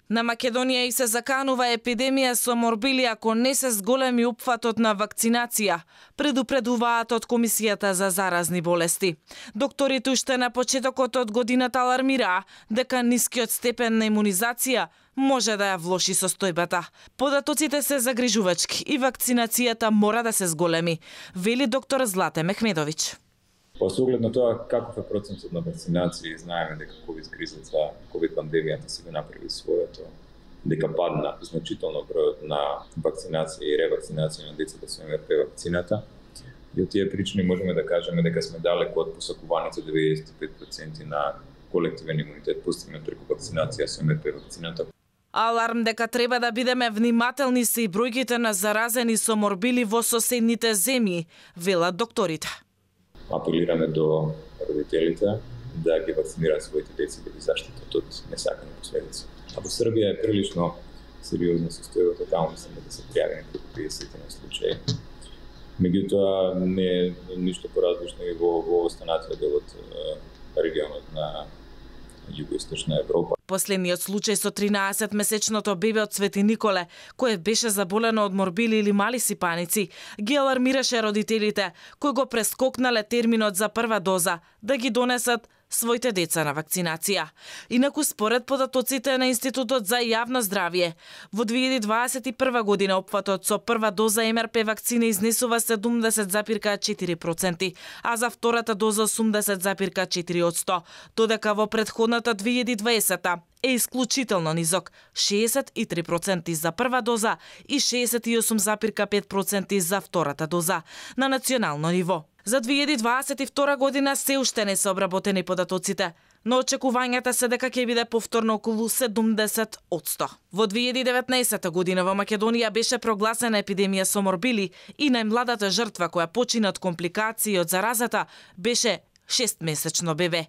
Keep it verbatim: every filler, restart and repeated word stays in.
На Македонија и се заканува епидемија со морбили ако не се зголеми опфатот на вакцинација, предупредуваат од Комисијата за заразни болести. Докторите уште на почетокот од годината алармираа дека нискиот степен на имунизација може да ја влоши состојбата. Податоците се загрижувачки и вакцинацијата мора да се зголеми, вели доктор Злате Мехмедовиќ. По оглед на тоа каков е процентот на вакцинации, знаеме дека ковид кризата, ковид пандемијата си го направи своето, дека падна значително бројот на вакцинација и ревакцинација на децата со ем ер пе вакцината. И од тие причини можеме да кажеме дека сме далеку од посакуваните деветдесет и пет проценти на колективен имунитет постигнат преку вакцинација со ем ер пе вакцината. Аларм дека треба да бидеме внимателни се и бројките на заразени со морбили во соседните земји, велат докторите. Апелираме до родителите да ги вакцинираат своите деца да ги заштитат од несакани последици. А во Србија е прилично сериозно состојбата, таму мислам дека се пријавени преку педесет случаи. Меѓутоа не е ништо поразлично и во, во останатиот дел од регионот на југоисточна Европа. Последниот случај со тринаесетмесечното бебе од Свети Николе, кое беше заболено од морбили или мали сипаници, ги алармираше родителите кои го прескокнале терминот за прва доза да ги донесат своите деца на вакцинација. Инаку според податоците на Институтот за јавно здравје, во две илјади дваесет и прва година опфатот со прва доза ем ер пе вакцина изнесува седумдесет запирка четири проценти, а за втората доза осумдесет запирка четири одсто, додека во претходната две илјади дваесета е исклучително низок, шеесет и три проценти за прва доза и шеесет и осум запирка пет проценти за втората доза на национално ниво. За две илјади дваесет и втора година се уште не се обработени податоците, но очекувањата се дека ќе биде повторно околу седумдесет одсто. Во две илјади деветнаесета година во Македонија беше прогласена епидемија со морбили и најмладата жртва која почина од компликации од заразата беше шестмесечно бебе.